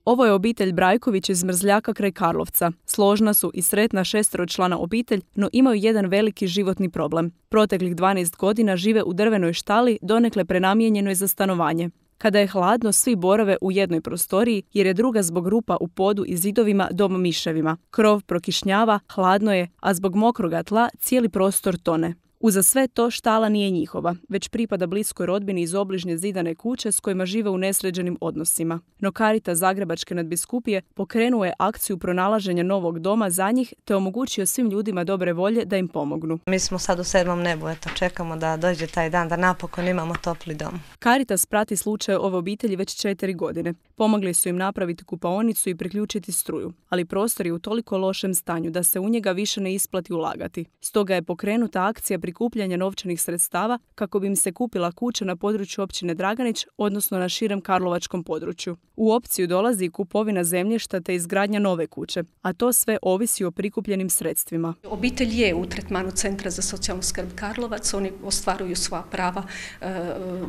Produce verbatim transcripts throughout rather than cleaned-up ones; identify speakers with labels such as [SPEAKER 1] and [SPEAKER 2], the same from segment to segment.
[SPEAKER 1] Ovo je obitelj Brajković iz Mrzljaka kraj Karlovca. Složna su i sretna šesteročlana obitelj, no imaju jedan veliki životni problem. Proteklih dvanaest godina žive u drvenoj štali, donekle prenamijenjenoj za stanovanje. Kada je hladno, svi borave u jednoj prostoriji, jer je druga zbog rupa u podu i zidovima dom miševima. Krov prokišnjava, hladno je, a zbog mokroga tla cijeli prostor tone. Uza sve to štala nije njihova, već pripada bliskoj rodbini iz obližnje zidane kuće s kojima žive u nesređenim odnosima. No Caritas Zagrebačke nadbiskupije pokrenuo je akciju pronalaženja novog doma za njih te omogućio svim ljudima dobre volje da im pomognu.
[SPEAKER 2] Mi smo sad u sedmom nebu, eto, čekamo da dođe taj dan, da napokon imamo topli dom.
[SPEAKER 1] Caritas prati slučaj ove obitelji već četiri godine. Pomogli su im napraviti kupaonicu i priključiti struju, ali prostor je u toliko lošem stanju da se u njega više ne isplati ulagati. Stoga je pokrenuta akcija prikupljanja novčanih sredstava kako bi im se kupila kuća na području općine Draganić, odnosno na širem karlovačkom području. U opciju dolazi i kupovina zemljišta te izgradnja nove kuće, a to sve ovisi o prikupljenim sredstvima.
[SPEAKER 3] Obitelj je u tretmanu Centra za socijalnu skrb Karlovac, oni ostvaruju sva prava,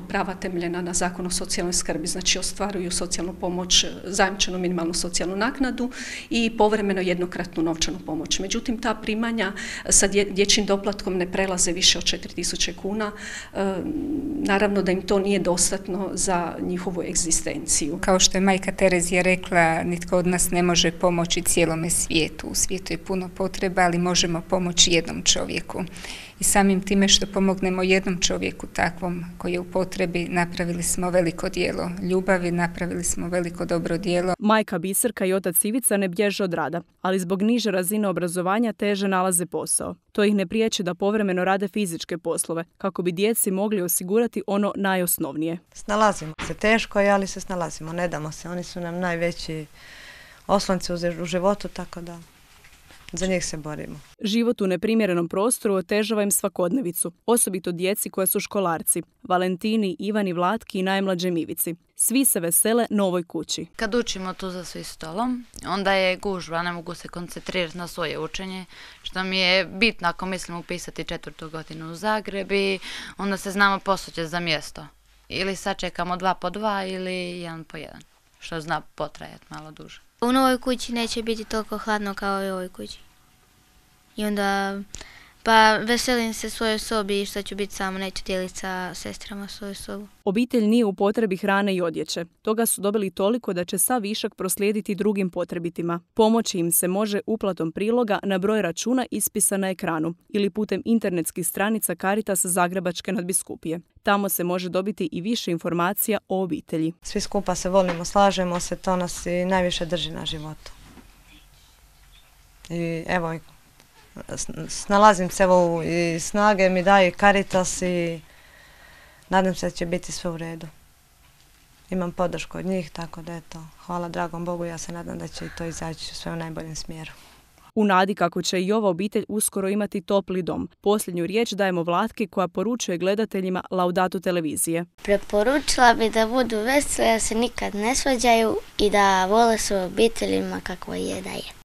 [SPEAKER 3] prava temeljena na Zakonu o socijalnoj skrbi, znači ostvaruju socijalnu pomoć, zajamčenu minimalnu socijalnu naknadu i povremeno jednokratnu novčanu pomoć. Međutim, ta primanja sa dječjim doplatkom ne prelaze više od četiri tisuće kuna. Naravno da im to nije dostatno za njihovu egzistenciju.
[SPEAKER 4] Kao što je majka Terezija rekla, nitko od nas ne može pomoći cijelome svijetu. U svijetu je puno potreba, ali možemo pomoći jednom čovjeku. I samim time što pomognemo jednom čovjeku takvom koji je u potrebi, napravili smo veliko djelo ljubavi, napravili smo veliko dobro djelo.
[SPEAKER 1] Majka Biserka i otac Ivica ne bježe od rada, ali zbog niže razine obrazovanja teže nalaze posao. To ih ne priječi da povremeno rade fizičke poslove, kako bi djeci mogli osigurati ono najosnovnije.
[SPEAKER 2] Snalazimo se, teško je, ali se snalazimo, ne damo se. Oni su nam najveći oslonci u životu, tako da za njih se borimo.
[SPEAKER 1] Život u neprimjerenom prostoru otežava im svakodnevicu, osobito djeci koja su školarci, Valentini, Ivani, Vlatki i najmlađem Ivici. Svi se vesele novoj kući.
[SPEAKER 5] Kad učimo tu za svi stolom, onda je gužva, ne mogu se koncentrirati na svoje učenje, što mi je bitno ako mislim upisati četvrtu godinu u Zagreb i onda se znamo posuđati za mjesto. Ili sačekamo dva po dva ili jedan po jedan, što zna potrajati malo duže.
[SPEAKER 6] U novoj kući neće biti toliko hladno kao i u ovoj kući. I onda, pa veselim se svojoj sobi što ću biti samo, neću dijeliti sa sestrama svoju sobu.
[SPEAKER 1] Obitelj nije u potrebi hrane i odjeće. Toga su dobili toliko da će sav višak proslijediti drugim potrebitima. Pomoći im se može uplatom priloga na broj računa ispisan na ekranu ili putem internetskih stranica Caritasa Zagrebačke nadbiskupije. Tamo se može dobiti i više informacija o obitelji.
[SPEAKER 2] Svi skupa se volimo, slažemo se, to nas i najviše drži na životu. I evo, snalazim se evo i snage mi daje Caritas i nadam se da će biti sve u redu. Imam podršku od njih, tako da eto, hvala dragom Bogu, ja se nadam da će to izaći sve u najboljem smjeru.
[SPEAKER 1] U nadi kako će i ova obitelj uskoro imati topli dom. Posljednju riječ dajemo Vlatki koja poručuje gledateljima Laudatu televizije.
[SPEAKER 6] Preporučila bi da budu veseli, da se nikad ne svađaju i da vole svoje obiteljima kako je da je.